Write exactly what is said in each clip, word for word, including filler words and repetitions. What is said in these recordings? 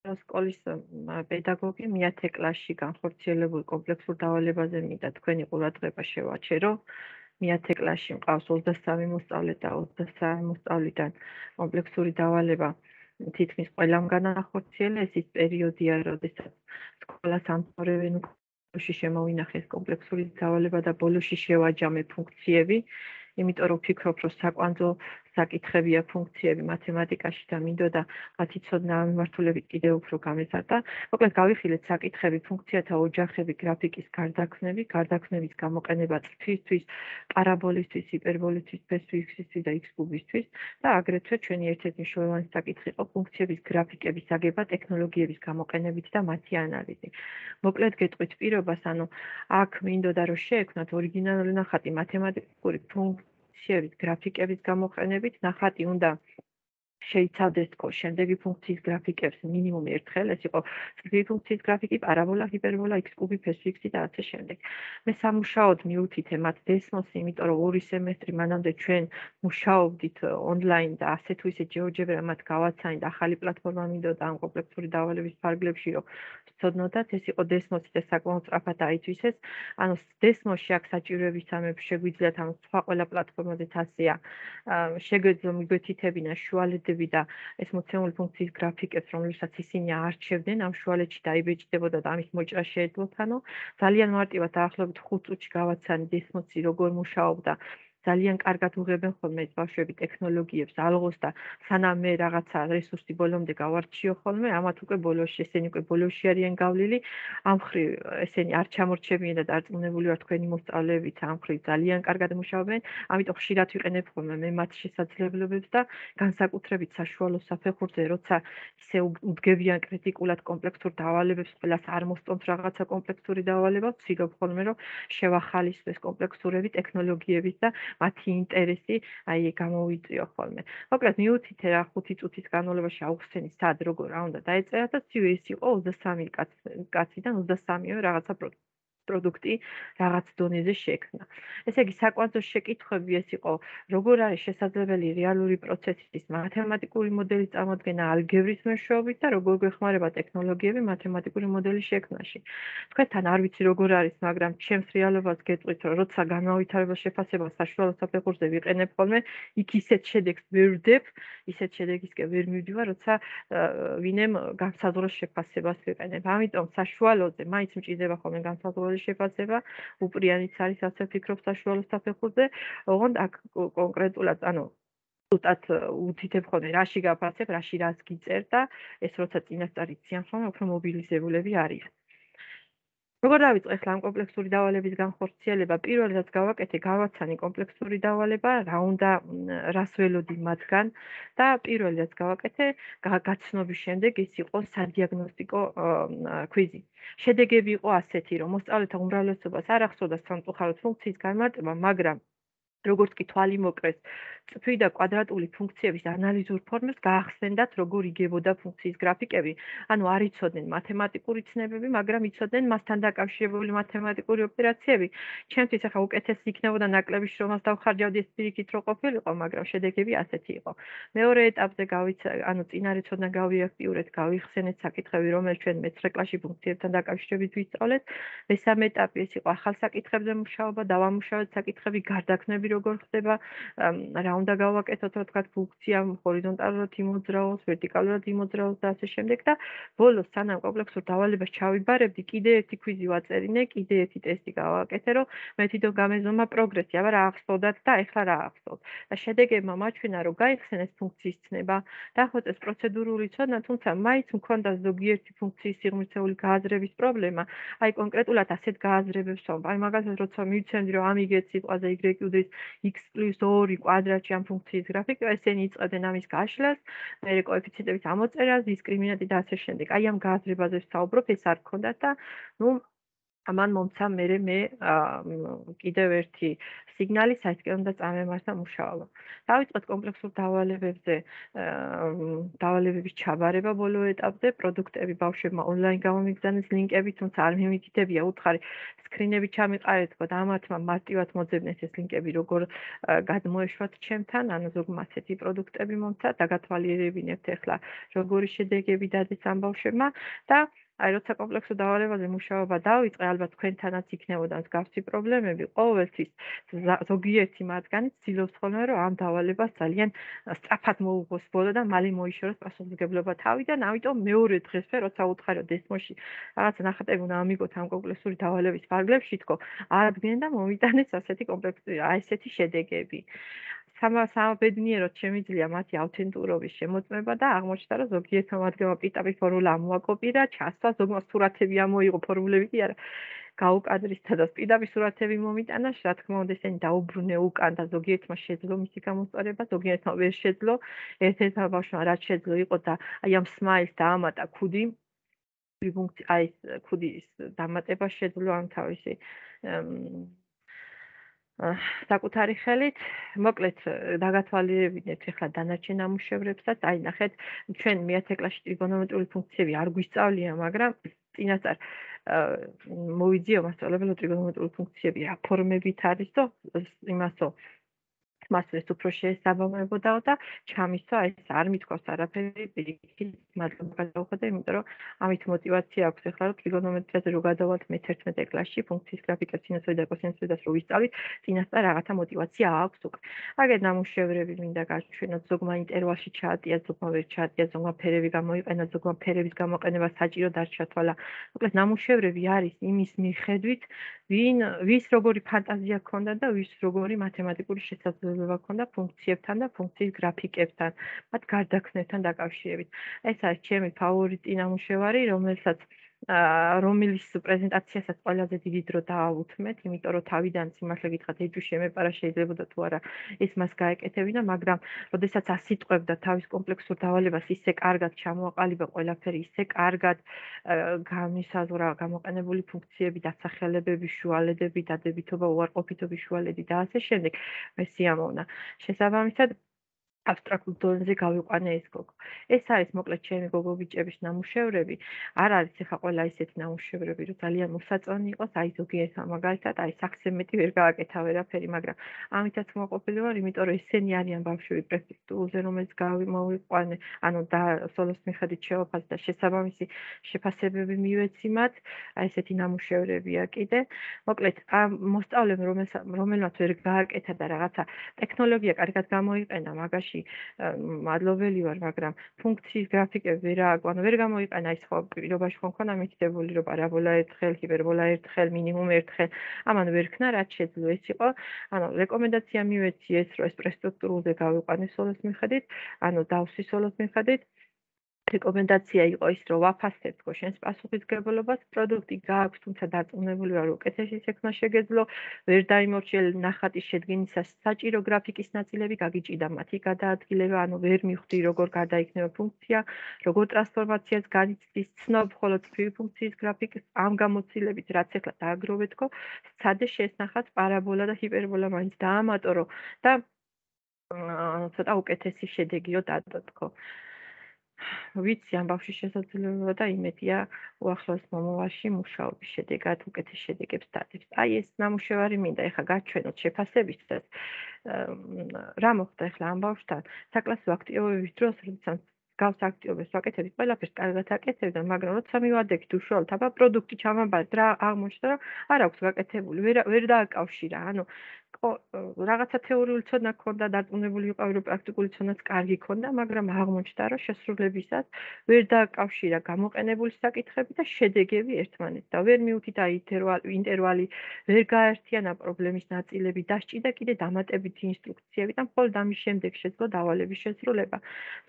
სკოლის პედაგოგი მეათე კლასში განხორციელებულ კომპლექსურ დავალებაზე მინდა თქვენი ყურადღება შევაჩერო. მეათე კლასში მყავს ოცდასამი მოსწავლე და ოცდასამი მოსწავლიდან კომპლექსური დავალება თითქმის ყველამ განახორციელა. ეს ის პერიოდია, როდესაც სკოლას ამთავრებენ ბოლოში შემოვინახეს კომპლექსური დავალება და ბოლოში შევაჯამე ფუნქციები. იმიტომ რომ ვფიქრობ, რომ საკვანძო საკითხებია ფუნქციები მათემატიკაში და მინდოდა მათი ცოდნა ამ მიმართულებით კიდევ უფრო გამეზარდა. მოკლედ გავიხილეთ საკითხები, ფუნქციათა ოჯახები, გრაფიკის გარდაქმნები, გარდაქმნების გამოყენება წრფისთვის, პარაბოლისთვის, ჰიპერბოლისთვის, ფესვისისთვის და x კუბისთვის და აგრეთვე ჩვენი ერთ-ერთი მნიშვნელოვანი საკითხი იყო ფუნქციების გრაფიკების აგება ტექნოლოგიების გამოყენებით და მათი ანალიზი. მოკლედ გეტყვით პირობას, ანუ აქ მინდოდა რომ შეექმნათ ორიგინალური ნახატი მათემატიკური ფუნქციების გრაფიკების გამოყენებით, ნახატი უნდა შეიცავდეს შემდეგი ფუნქციის გრაფიკებს მინიმუმ ერთხელ, ეს იყო წრფივი ფუნქციის გრაფიკი, პარაბოლა, ჰიპერბოლა, x კუბი, ფესვიქსი და ასე შემდეგ. მე სამუშაოდ მივუთით ემათ დესმოსი, იმიტომ რომ ორი სემესტრი მანამდე ჩვენ მუშაობდით ონლაინ და ასე თუ ისე ჯეოჯებრა მათ გავაცანით, ახალი პლატფორმა მინდოდა ამ კომპლექსური დავალების ფარგლებში, რომ ვცოდნოდათ, ეს იყო დესმოსი და საკმაოდ სწრაფად აითვისეს. ანუ დესმოსში აქ საჭიროების სამებს შეგვიძლიათ, ანუ სხვა ყველა პლატფორმაზეც ასეა, შეგვეძლო მიგვეთითებინა შუალედები და ეს მოცემული ფუნქციის გრაფიკებს, რომლებსაც ისინი არჩევდნენ, ამ შუალედში დაიბეჭდებოდა და ამის მოჭრა შეეძლოთ, ანუ ძალიან მარტივად დაახლოებით ხუთ წუთში გავაცანი დესმოსი როგორ მუშაობდა. ძალიან კარგად უღებენ ხოლმე ეს ბავშვები ტექნოლოგიებს, ალღოს და სანამ მე რაღაცა რესურსი ბოლომდე გავარჩიო ხოლმე, ამათ უკვე ბოლოში, ესენი უკვე ბოლოში არიან გავლილი. ამ მხრივ ესენი არ ჩამორჩებიან და დარწმუნებული ვარ თქვენი მოსწავლეებიც ამ მხრივ ძალიან კარგად მუშაობენ, ამიტომ ხშირად ვიყენებ ხოლმე მე მათ შესაძლებლობებს და განსაკუთრებით საშუალო საფეხურზე, როცა ისე უდგებიან კრიტიკულად კომპლექსურ დავალებებს, ყველას არ მოსწონთ რაღაცა კომპლექსური დავალება, ვცდილობ ხოლმე რომ შევახალისო ეს კომპლექსურები ტექნოლოგიების და მათი ინტერესი აი გამოვიწიო ხოლმე. მოკლედ მივუთითე რა ხუთი წუთის განმავლობაში აუხსენი სად როგორ რა უნდა დაეწერა და ცივი ეს იყო ოცდასამი კაციდან ოცდასამივე რაღაცა პროდუქტი რაღაც დონეზე შექმნა. ესე იგი საკვანძო შეკითხვები ეს იყო, როგორ არის შესაძლებელი რეალური პროცესის მათემატიკური მოდელის წარმოქმნა ალგებრის მეშვეობით და როგორ გვეხმარება ტექნოლოგიები მათემატიკური მოდელის შექმნაში. თქვენთან არ ვიცი როგორ არის, მაგრამ ჩემს რეალობას გეტყვით, რომ როცა განმავითარებელ შეფასებას საშუალო საფეხურზე ვიყენებ ხოლმე, იქ ისეთ შედეგს ვერ ვდებ, ისეთ შედეგისკენ ვერ მივდივარ, როცა ვინემ განსაზღვრულ შეფასებას ვიყენებ. ამიტომ საშუალოზე მაინც მჭირდება ხოლმე განსაზღვრული შეფასება, უპრიანიც არის ასე ვფიქრობ საშუალო საფეხურზე, ოღონდ აქ კონკრეტულად, ანუ ზუსტად უთითებ ხოლმე რაში გაფასებ, რაში რას გიწერ და ეს როცა წინასწარ იციან ხოლმე, უფრო მობილიზებულები არიან. როგორ დავიწყე ახლა ამ კომპლექსური დავალების განხორციელება? პირველ რაც გავაკეთე, გავაცანი კომპლექსური დავალება, რა უნდა რას ველოდი მათგან და პირველ რაც გავაკეთე, გაცნობის შემდეგ ის იყო სადიაგნოსტიკო კვიზი. შედეგები იყო ასეთი, რომ მოსწავლეთა უმრავლესობას არ ახსოვდა სამწუხაროდ ფუნქციის განმარტება, მაგრამ როგორც კი თვალი მოკრეს, წრფივი და კვადრატული ფუნქციების ანალიზურ ფორმებს გაახსენდათ, როგორ იგებოდა ფუნქციის გრაფიკები. ანუ არ იცოდნენ მათემატიკური ცნებები, მაგრამ იცოდნენ მასთან დაკავშირებული მათემატიკური ოპერაციები. ჩემთვის ახლა უკეთესი იქნებოდა ნაკლები შრომას დავხარჯავდი, ეს პირიქით რო ყოფილიყო, მაგრამ შედეგები ასეთი იყო. მეორე ეტაპზე გავიცა, ანუ წინარე ცოდნა გავიაქტიურეთ, გავიხსენეთ საკითხები, რომელიც ჩვენ მეცხრე კლასში ფუნქციებთან დაკავშირებით ვისწავლეთ. მესამე ეტაპი ეს იყო ახალ საკითხებზე მუშაობა, დავამუშავეთ საკითხები, გარდაქმნები როგორ ხდება, რა უნდა გავაკეთოთ, რა თქვა ფუნქცია ჰორიზონტალურად იმოძრაოს, ვერტიკალურად იმოძრაოს და ასე შემდეგ და ბოლოს სანამ კომპლექსურ დავალებას ჩავიბარებდი, კიდე ერთი კვიზი ვაწერინე, კიდე ერთი ტესტი გავაკეთე, რომ მე თვითონ გამეზომა პროგრესი, აბა რა ახსოვდათ და ეხლა რა ახსოვთ. და შედეგებმა მაჩვენა, რომ გაიხსენეს ფუნქციის ცნება, დახვეწეს პროცედურული ცოდნა, თუმცა მაინც მქონდა ზოგიერთი ფუნქციის სიღრმისეული გააზრების პრობლემა. აი კონკრეტულად ასეთ გააზრებებს ვამბ. აი მაგალითად, როცა მივცემდი, რომ ამიგეთ სიტყვაზე y უდრის x პლუს ორი კვადრატში ამ ფუნქციის გრაფიკა, ესენი იწყებდნენ ამის გაშლას, მერე კოეფიციენტების ამოწერას, დისკრიმინანტი და ასე შემდეგ. აი ამ გააზრებაზე ვსაუბრობ, ეს არ გქონდათ და ნუ ამან მომცა მერე მე კიდევ ერთი სიგნალი, საითკენ უნდა წამემართა მუშაობა. დავიწყეთ კომპლექსურ დავალებებზე დავალებების ჩაბარება ბოლო ეტაპზე, პროდუქტები ბავშვებმა ონლაინ გამომიგზავნეს ლინკები, თუმცა არ მიმიტითებია უთხარი სკრინები ჩამიყარეთ და ამათმა მარტივად მოძებნეს ეს ლინკები, როგორ გადმოეშვათ ჩემთან, ანუ ზოგმა ასეთი პროდუქტები მომცა და გათვალიერებინებთ ახლა როგორი შედეგები დადეს ამ ბავშვებმა და აი როცა კომპლექსურ დავალებაზე მუშაობა დავიწყე, ალბათ თქვენთანაც იქნებოდა მსგავსი პრობლემები, ყოველთვის ზოგიერთი მათგანი ცდილობს ხოლმე, რომ ამ დავალებას ძალიან სწრაფად მოუღოს ბოლო და მალე მოიშოროს პასუხისმგებლობა თავიდან, ამიტომ მეორე დღესვე, როცა უთხარი რომ დესმოში რაღაცა ნახატები უნდა ამიგოთ ამ კომპლექსური დავალების ფარგლებში, თქო, აღდგნენ და მომიტანეს ასეთი კომპლექსური, აი ესეთი შედეგები. სამაბედნიეროდ შემიძლია მათი ავთენტურობის შემოწმება და აღმოჩნდა, რომ ზოგიერთმა მათგანმა პიტაპი ფორმულა მოაკოპირა, ჩასვა, ზოგმა სურათები ამოიღო, ფორმულები კი არა. გაუკადრისთა და პირდაპირ სურათები მომიტანა, რა თქმა უნდა, ესენი დაუბრუნე უკან და ზოგიერთმა შეძლო მისი გამოსწორება, ზოგიერთმა ვერ შეძლო. ერთ-ერთმა ბავშვმა რაც შეძლო იყო და აი ამ სმაილს დაამატა ქუდი, ფუნქცია, აი ეს ქუდის დამატება შეძლო ამ თავისი საკუთარი ხელით. მოკლედ დაგათვალიერებინეთ ახლა დანარჩენ ნამუშევრებსაც, აი ნახეთ, ჩვენ მეათე კლასში ტრიგონომეტრიული ფუნქციები არ გვისწავლია, მაგრამ წინასწარ მოვიძიო მასწავლებელო ტრიგონომეტრიული ფუნქციები რა ფორმებით არისო, იმასო მასწავლეს უფრო შეესაბამებოდაო და ჩამისვა ეს არ მithქვავს არაფერი, პირიქით მადლობა გადავხადე, იმიტომ რომ ამით мотиваცია აქვს ახლა რომ ტრიგონომეტრიაზე რო გადავალთ მეთერთმეტე კლასში, ფუნქციის გრაფიკას, სინუსოიდას და კოსინუსოიდას რო ვისწავლით, წინასწარ რაღაცა мотиваცია აქვს უკვე. აგერ ნამუშევრები მინდა გაჩვენოთ, ზოგმა ინტერვალში ჩაატია, ზოგმა ვერ ჩაატია, ზოგმა ფერები გამოიყენა, ზოგმა ფერების გამოყენება საჭიროდ არ ჩათვალა. მოკლედ ნამუშევრები არის იმის მიხედვით, ვინ ვის როგორი ფანტაზია ჰქონდა და ვის როგორი მათემატიკური შესაძლებლობა ჰქონდა ფუნქციებთან და ფუნქციის გრაფიკებთან, მათ გარდაქმნებთან დაკავშირებით. ეს არის ჩემი ფავორიტი ნამუშევარი, რომელსაც რომლის პრეზენტაციასაც ყველაზე დიდი დრო დაავუთმეთ, იმიტომ რომ თავიდან სიმართლე გითხრათ, ეჭვი შემეპარა, შეიძლებოდა თუ არა ეს მას გაეკეთებინა, მაგრამ როდესაც ასიტყვებდა თავის კომპლექსურ დავალებას, ისე კარგად ჩამოაყალიბა ყველაფერი, ისე კარგად გამისაზღვრა გამოყენებული ფუნქციები, დასახელებები, შუალედები, დადებითობა, უარყოფითობის შუალედი და ასე შემდეგ, მე სიამოვნა. შესაბამისად აბსტრაქტულ დონეზე გავიყვანე ეს გოგო. ეს არის მოკლედ ჩემი გოგო ბიჭების ნამუშევრები. არ არის ახლა ყველა ისეთი ნამუშევრები, რომ ძალიან მოსაწონი იყოს, აი ზოგიერთმა მაგალითად, აი საქსემეტი ვერ გააკეთა ვერაფერი, მაგრამ ამითაც მოყოფილი ვარ, იმიტომ რომ ესენი არიან ბავშვები პრეფექტურაზე, რომელიც გავიმოვიყვანე, ანუ და სოლოს მიხედვით შევაფასე და შესაბამისი შეფასებები მივეცი მათ, აი ესეთი ნამუშევრებია კიდე. მოკლედ, ამ მოსწავლემ რომელმაც ვერ გააკეთა და რაღაცა ტექნოლოგია კარგად გამოიყენა, მაგაში მადლობელი ვარ, მაგრამ ფუნქციის გრაფიკები ვერ ააკვანო, ვერ გამოიყენა ის ხო პირობაში ხო მქონდა მითითებული, რომ პარაბოლა ერთხელ, ჰიპერბოლა ერთხელ, მინიმუმ ერთხელ, ამან ვერ ქნა, რაც შეძლო ეს იყო. ანუ რეკომენდაცია მივეცი ეს, რომ ეს პრესტრუქტურულზე გავიყვანე სოლოს მიხედვით, ანუ დავსვი სოლოს მიხედვით. რეკომენდაცია იყო ის, რომ ვაფასებ თქო შენს პასუხისმგებლობას, პროდუქტი გააქვს, თუმცა დარწმუნებული ვარ, რომ უკეთესი შექმნა შეგეძლო, ვერ დაიმორჩიელ ნახატის შედგენისას საჭირო გრაფიკის ნაწილები გაგიჭირდა მათი გადაადგილება, ანუ ვერ მივხვდი როგორ გადაიქნება ფუნქცია, როგორ ტრანსფორმაციას განიცდის, ცნობ მხოლოდ წრიული ფუნქციის გრაფიკის ამ გამოცდილებით, რაც ახლა დააგროვე თქო, სცადე შესნახած პარაბოლა და ჰიპერბოლა მაინც დაამატორო და ცოტა უკეთესი შედეგიო დადო თქო. ვიცი ამ ბავშვის შესაძლებლობა და იმედია უახლოეს მომავალში მუშაობის შედეგად უკეთეს შედეგებს დადებს. აი ეს ნამუშევარი მინდა ეხლა გაჩვენოთ შეფასებისას. რა მოხდა ეხლა ამ ბავშვთან? საკლასო აქტივობების დროს, როდესაც გავს აქტივობებს ვაკეთებთ, ყველაფერს კარგად აკეთებდა, მაგრამ როცა მივადგეთ უშუალოდ აბა პროდუქტი ჩამაბარეთ, რა აღმოჩნდა, რომ არ აქვს გაკეთებული, ვერ ვერ დააკავშირა, ანუ რაღაცა თეორიული ცოდნა ჰქონდა, დარწმუნებული ვიყავი, რომ პრაქტიკული ცოდნაც კარგი ჰქონდა, მაგრამ აღმოჩნდა, რომ შესრულებისას ვერ დააკავშირა გამოყენებული საკითხები და შედეგები ერთმანეთს და ვერ მიუთითა ინტერვალი, ვერ გააერთიანა პრობლემის ნაწილები, დასჭიდა კიდე დამატებითი ინსტრუქციები და მხოლოდ ამის შემდეგ შეძლო დავალების შესრულება.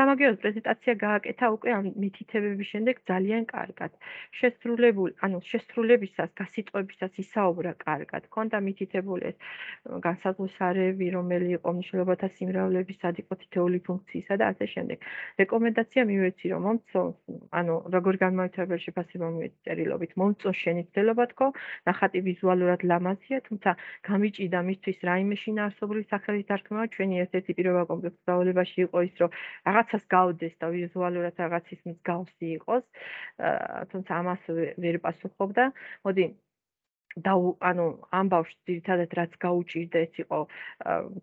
სამაგიეროდ პრეზენტაცია გააკეთა უკვე ამ მითითებების შემდეგ ძალიან კარგად. შესრულებული, ანუ შესრულებისას, გასიტყვებისას ისაუბრა კარგად, ჰქონდა მითითებული ეს განსაზღვრისარევი, რომელი იყო მნიშვნელობათა სიმრავლების, სად იყო თითოეული ფუნქციისა და ასე შემდეგ. რეკომენდაცია მივეცი, რომ მომწონს, ანუ როგორ გამოიცვალება შეფასება მივეცი წერილობით, მომწონს შენი ცდელობა თქო, ნახატი ვიზუალურად ლამაზია, თუმცა გამიჭიდა მისთვის რაიმე შინაარსობრივი სახელის დარქმევა, ჩვენი ერთ-ერთი პირობა კომპლექსურ დავალებაში იყო ის, რომ რაღაცას გავდეს და ვიზუალურად რაღაცის მსგავსი იყოს, თუმცა ამას ვერ პასუხობდა. მოდი და ანუ ამ ბავშვს ძირითადად რაც გაუჭირდა ეს იყო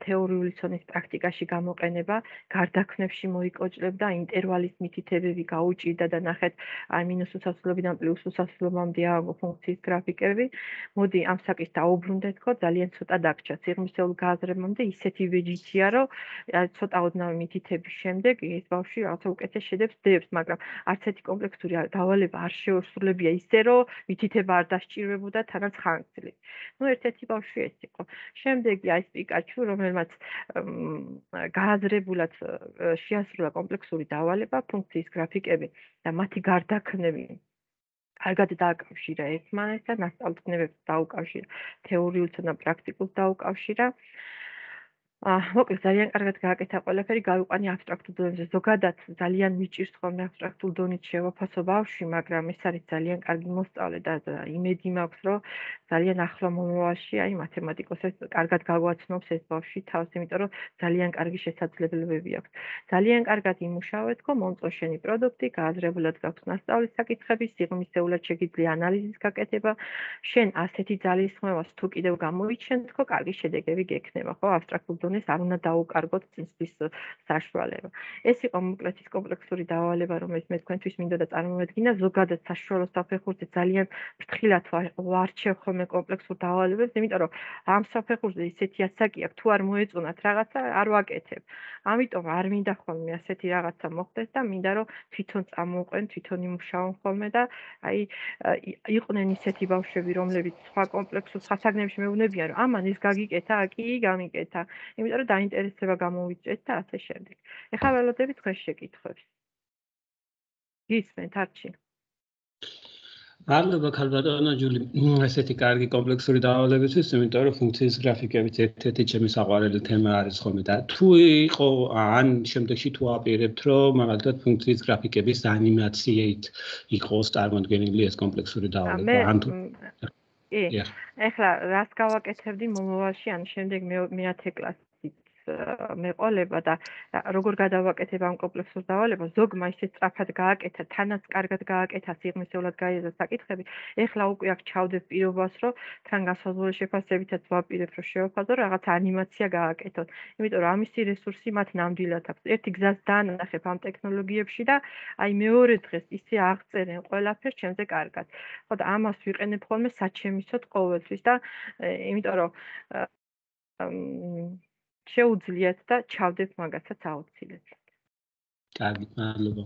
თეორიული ცოდნის პრაქტიკაში გამოყენება, გარდაქმნებში მოიკოჭლებდა, ინტერვალის მითითებები გაუჭირდა და ნახეთ აი მინუს უსასრულობიდან პლუს უსასრულობამდე ააგო ფუნქციის გრაფიკები. მოდი ამ საკის დაუბრუნდეთ, ხო, ძალიან ცოტა დაგჭა სიღრმისეულ გააზრებამდე ისეთი ვეჯითია, რომ ცოტა ოდნავ მითითების შემდეგ ეს ბავშვი რაღაცა უკეთეს შედეგს დებს, მაგრამ არც ერთი კომპლექსური დავალება არ შეუსრულებია ისე, რომ მითითება არ დასჭირვებოდა თანაც ხანგრძლივი. ნუ ერთ-ერთი ბავშვი ეს იყო. შემდეგი აი ეს პიკაჩუ, რომელმაც გააზრებულად შეასრულა კომპლექსური დავალება, ფუნქციის გრაფიკები და მათი გარდაქმნები კარგად დააკავშირა ერთმანეთს და მასწავლებლებებს დაუკავშირა, თეორიულ და პრაქტიკულ დაუკავშირა. მოკლედ ძალიან კარგად გააკეთა ყველაფერი, გავიყვანი აბსტრაქტულ დონეზე. ზოგადად ძალიან მიჭირს ხოლმე აბსტრაქტულ დონით შევაფასო ბავშვი, მაგრამ ეს არის ძალიან კარგი მოსწავლე და იმედი მაქვს, რომ ძალიან ახლო მომავალში აი მათემატიკოსებს კარგად გაგვაცნობს ეს ბავშვი თავს, იმიტომ რომ ძალიან კარგი შესაძლებლობები აქვს. ძალიან კარგად იმუშავე თქო, მომწონს შენი პროდუქტი, გააზრებულად გაქვს მასწავლის საკითხები, სიღრმისეულად შეგიძლია ანალიზის გაკეთება. შენ ასეთი ძალისხმევას თუ კიდევ გამოიჩენ თქო, კარგი შედეგები გექნება, ხო, აბსტრაქტულ დონეს არ უნდა დაუკარგოთ წინსვლის საშუალება. ეს იყო მოკლედ ის კომპლექსური დავალება, რომელიც მე თქვენთვის მინდოდა წარმოვედგინა. ზოგადად საშუალო საფეხურზე ძალიან ფრთხილად ვარჩევ ხოლმე კომპლექსურ დავალებებს, იმიტომ რომ ამ საფეხურზე ისეთი ასაკი აქვს, თუ არ მოეწონათ რაღაცა, არ ვაკეთებ. ამიტომ არ მინდა ხოლმე ასეთი რაღაცა მოხდეს და მინდა რომ თვითონ წამოვყვენ, თვითონ იმუშაონ ხოლმე და აი იყვნენ ისეთი ბავშვები, რომლებიც სხვა კომპლექსურ სასაგნებში მეუბნებიან, რომ ამან ეს გაგიკეთა, კი, გამიკეთა. იმიტომ რომ დაინტერესება გამოვიჭრეთ და ასე შემდეგ. ეხლა ველოდები თქვენ შეკითხვებს. გისმენთ არჩი. მადლობა ქალბატონო ჯული, ესეთი კარგი კომპლექსური დავალებისთვის, იმიტომ რომ ფუნქციის გრაფიკებიც ერთ-ერთი ჩემი საყვარელი თემა არის ხოლმე და თუ იყო ან შემდეგში თუ აპირებთ, რომ მაგალითად ფუნქციის გრაფიკების ანიმაციით იყოს წარმოდგენილი ეს კომპლექსური დავალება, ან თუ კი, ეხლა რას გავაკეთებდი მომავალში, ან შემდეგ მეათე კლასით მეყოლება და როგორ გადავაკეთებ ამ კომპლექსურ დავალებას, ზოგმა ისე სწრაფად გააკეთა, თანაც კარგად გააკეთა, სიღრმისეულად გაიაზრა საკითხები. ეხლა უკვე აქ ჩავდებ პირობას, რომ თან განსაზღვრული შეფასებითაც ვაპირებ, რომ შევაფასო, რაღაც ანიმაცია გააკეთოთ. იმიტომ რომ ამისი რესურსი მათ ნამდვილად აქვს. ერთი გზას დაანახებ ამ ტექნოლოგიებში და აი მეორე დღეს ისე აღწერენ ყველაფერს ჩემზე კარგად. ხო და ამას ვიყენებ ხოლმე საჩემისოდ ყოველთვის და იმიტომ რომ შეუძლიათ და ჩავდეთ მაგასაც აუცილებლად. კარგი, მადლობა.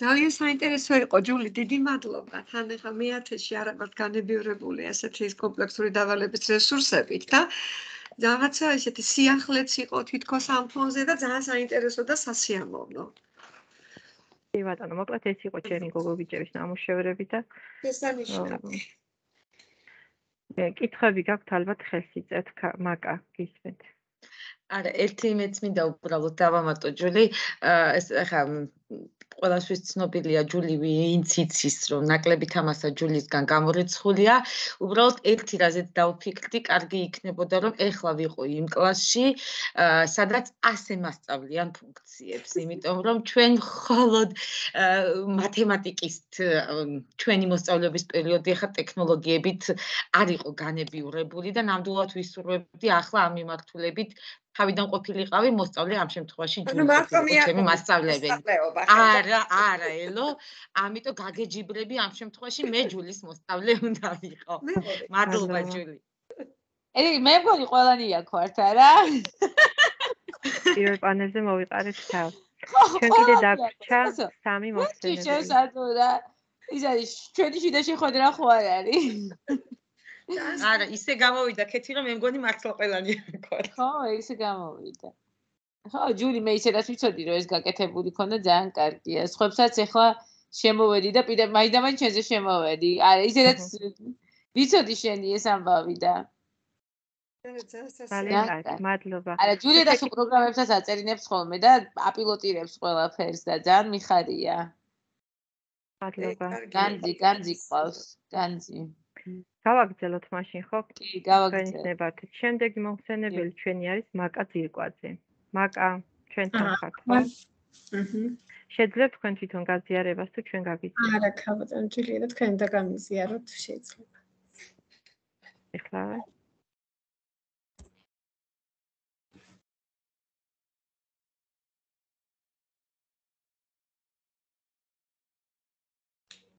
ძალიან საინტერესო იყო ჯული, დიდი მადლობა. თან ახლა მეათეში არა ვართ განებივრებული ასეთი კომპლექსური დავალების რესურსებით და რაღაცა ესეთი სიახლეც იყო თითქოს ამ ფონზე და ძალიან საინტერესო და სასიამოვნო. კი ბატონო, მოკლედ ეს იყო ჩემი გოგობიჭების ნამუშევრები და შესანიშნავი. კითხვები გაქვთ ალბათ ხელს იწევთ, მაკა გისმენთ. არა, ერთი მეც მინდა უბრალოდ დავამატო ჯული, ეს ახლა ყველასთვის ცნობილია ჯული ვინც იცის, რომ ნაკლები თამასა ჯულისგან გამორიცხულია. უბრალოდ ერთი რაზეც დავფიქრდი, კარგი იქნებოდა, რომ ეხლა ვიყო იმ კლასში, სადაც ასე მასწავლიან ფუნქციებს, იმიტომ რომ ჩვენ მხოლოდ მათემატიკის ჩვენი მოსწავლეობის პერიოდი ახლა ტექნოლოგიებით არ იყო განებივრებული და ნამდვილად ვისურვებდი ახლა ამ მიმართულებით თავიდან ყოფილიყავი მოსწავლე ამ შემთხვევაში ჯული ჩემი მასწავლებელი. არა, არა, ელო, ამიტომ გაგეჯიბრები ამ შემთხვევაში მე ჯულის მოსწავლე უნდა ვიყო. მადლობა ჯული. ელი მე მგონი ყველანი აქ არა? პირველ პანელზე მოვიყარეთ თავს. ჩვენ კიდე დაგვრჩა სამი მოხსენები. შესაძლოა. ის არის ჩვენი შიდა შეხვედრა ხო არ არის? არა, ისე გამოვიდა ქეთი რომ მე მგონი მართლა ყველანი აქ. ხო, ისე გამოვიდა. ხო, ჯული მე ისედაც ვიცოდი რომ ეს გაკეთებული ქონდა ძალიან კარგია. სხვებსაც ეხლა შემოვედი და პირდაპირ მაინდა-მაინც ჩვენზე შემოვედი. არა, ისედაც ვიცოდი შენი ეს ამბავი და ძალიან კარგი, მადლობა. არა, ჯულია და სულ პროგრამებსაც აწერინებს ხოლმე და აპილოტირებს ყველაფერს და ძალიან მიხარია. მადლობა. განძი, განძი ყავს, განძი. გავაგრძელოთ მაშინ, ხო? კი, გავაგრძელოთ. ნებართეთ. შემდეგი მომხსენებელი ჩვენი არის მაკა ძირკვაძე. მაკა, ჩვენთან ხართ, ხო? აჰა. შეძლებთ თქვენ თვითონ გაზიარებას თუ ჩვენ გაგიზიარებთ? არა, ქაბატონ ჯულია და თქვენ დაგამიზიაროთ შეიძლება. ეხლა